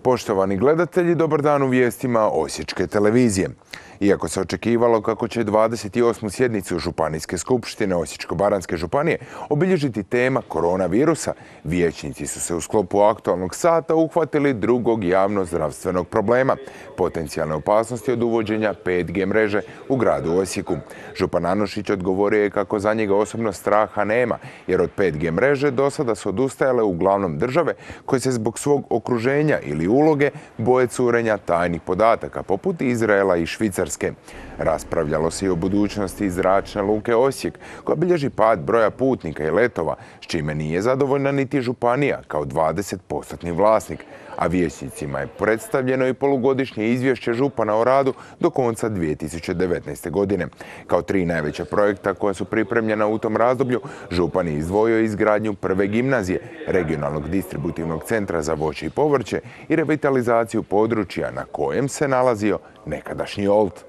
Poštovani gledatelji, dobar dan u vijestima Osječke televizije. Iako se očekivalo kako će 28. sjednicu Županijske skupštine Osječko-baranjske županije obilježiti tema koronavirusa, vijećnici su se u sklopu aktualnog sata uhvatili drugog javno-zdravstvenog problema, potencijalne opasnosti od uvođenja 5G mreže u gradu Osijeku. Župan Anušić odgovorio je kako za njega osobno straha nema, jer od 5G mreže do sada su odustajale uglavnom države koje se zbog svog okruženja ili uloge boje curenja tajnih podataka, poput Izraela i Švicarske. Raspravljalo se i o budućnosti zračne luke Osijek, koja bilježi pad broja putnika i letova, s čime nije zadovoljna niti županija kao 20% vlasnik, a vijećnicima je predstavljeno i polugodišnje izvješće župana o radu do konca 2019. godine. Kao 3 najveća projekta koja su pripremljena u tom razdoblju, župan je izdvojio izgradnju prve gimnazije, regionalnog distributivnog centra za voće i povrće i revitalizaciju područja na kojem se nalazio nekadašnji Olt.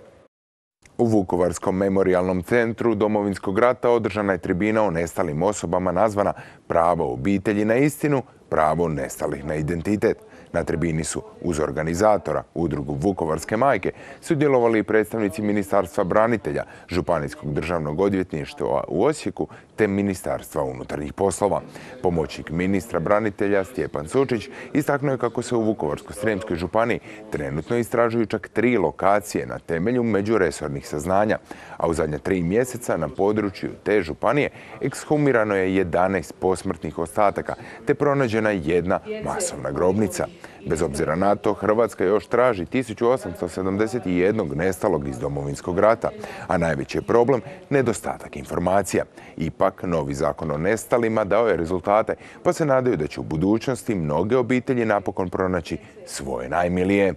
U Vukovarskom memorijalnom centru Domovinskog rata održana je tribina o nestalim osobama nazvana Pravo obitelji na istinu, pravo nestalih na identitet. Na tribini su uz organizatora, udrugu Vukovarske majke, sudjelovali i predstavnici Ministarstva branitelja, Županijskog državnog odvjetništva u Osijeku te Ministarstva unutarnjih poslova. Pomoćnik ministra branitelja Stjepan Sučić istaknuo je kako se u Vukovarsko-srijemskoj županiji trenutno istražuju čak 3 lokacije na temelju međuresornih saznanja, a u zadnja 3 mjeseca na području te županije ekshumirano je 11 posmrtnih ostataka te pronađena jedna masovna grobnica. Bez obzira na to, Hrvatska još traži 1871 nestalog iz Domovinskog rata, a najveći je problem nedostatak informacija. Ipak, novi zakon o nestalima dao je rezultate, pa se nadaju da će u budućnosti mnoge obitelji napokon pronaći svoje najmilije.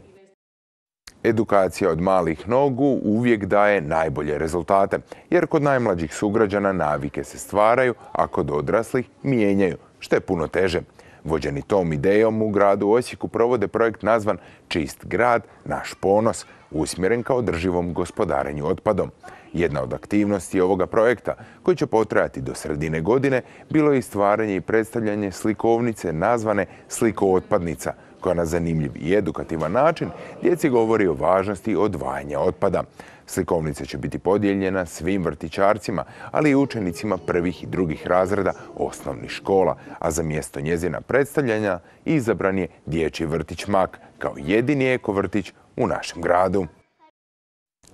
Edukacija od malih nogu uvijek daje najbolje rezultate, jer kod najmlađih sugrađana navike se stvaraju, a kod odraslih mijenjaju, što je puno teže. Vođeni tom idejom u gradu Osijeku provode projekt nazvan Čist grad, naš ponos, usmjeren ka održivom gospodarenju otpadom. Jedna od aktivnosti ovoga projekta, koji će potrajati do sredine godine, bilo je i stvaranje i predstavljanje slikovnice nazvane Slikootpadnica, koja na zanimljiv i edukativan način djeci govori o važnosti odvajanja otpada. Slikovnica će biti podijeljena svim vrtićarcima, ali i učenicima prvih i drugih razreda osnovnih škola, a za mjesto njezina predstavljanja izabran je dječji vrtić Mak kao jedini ekovrtić u našem gradu.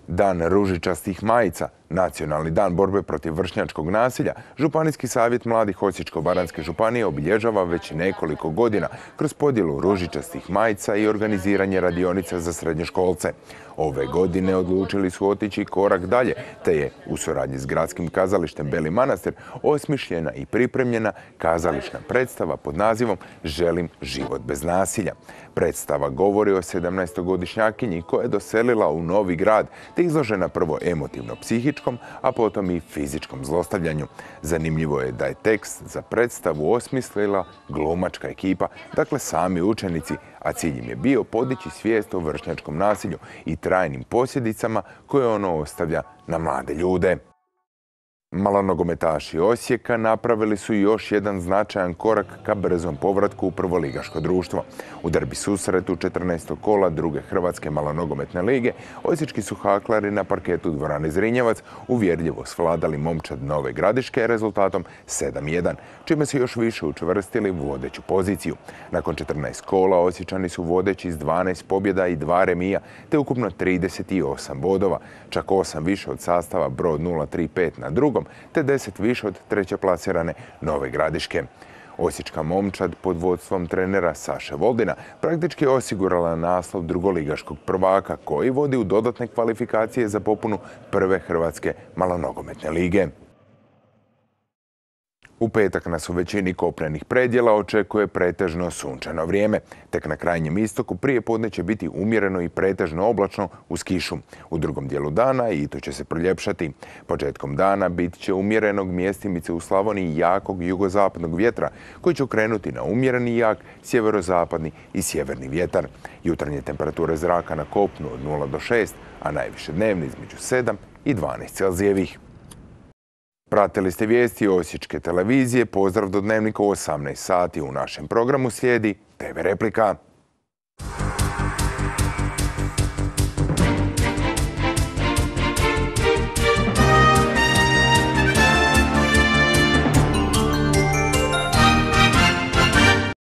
Dan ružičastih majica, Nacionalni dan borbe protiv vršnjačkog nasilja, Županijski savjet mladih Osječko-baranjske županije obilježava već nekoliko godina kroz podjelu ružičastih majica i organiziranje radionica za srednjoškolce. Ove godine odlučili su otići korak dalje, te je u suradnji s gradskim kazalištem Beli Manastir osmišljena i pripremljena kazališna predstava pod nazivom Želim život bez nasilja. Predstava govori o 17-godišnjakinji koja je doselila u novi grad, te izložena prvo emotivno-psihičkom, a potom i fizičkom zlostavljanju. Zanimljivo je da je tekst za predstavu osmislila glumačka ekipa, dakle sami učenici, a cilj im je bio podići svijest o vršnjačkom nasilju i trajnim posljedicama koje ono ostavlja na mlade ljude. Malonogometaši Osijeka napravili su još jedan značajan korak ka brzom povratku u prvoligaško društvo. U derbi susretu 14. kola druge Hrvatske malonogometne lige, osječki su haklari na parketu dvorane Zrinjevac uvjerljivo svladali Momčad Nove Gradiške rezultatom 7:1, čime se još više učvrstili u vodeću poziciju. Nakon 14 kola Osječani su vodeći s 12 pobjeda i 2 remija, te ukupno 38 bodova, čak 8 više od sastava Brod 035 na drugom, te 10 više od treće plasirane Nove Gradiške. Osječka Momčad pod vodstvom trenera Saše Voldina praktički je osigurala naslov drugoligaškog prvaka koji vodi u dodatne kvalifikacije za popunu prve Hrvatske malonogometne lige. U petak nas u većini kopnenih predjela očekuje pretežno sunčano vrijeme. Tek na krajnjem istoku prije podne će biti umjereno i pretežno oblačno uz kišu. U drugom dijelu dana i to će se proljepšati. Početkom dana bit će umjerenog mjestimice u Slavoniji jakog jugozapadnog vjetra koji će okrenuti na umjereni i jak sjeverozapadni i sjeverni vjetar. Jutarnje temperature zraka na kopnu od 0 do 6, a najviše dnevni između 7 i 12 Celzijevih. Pratili ste vijesti Osječke televizije. Pozdrav do Dnevnika u 18 sati. U našem programu slijedi TV Replika.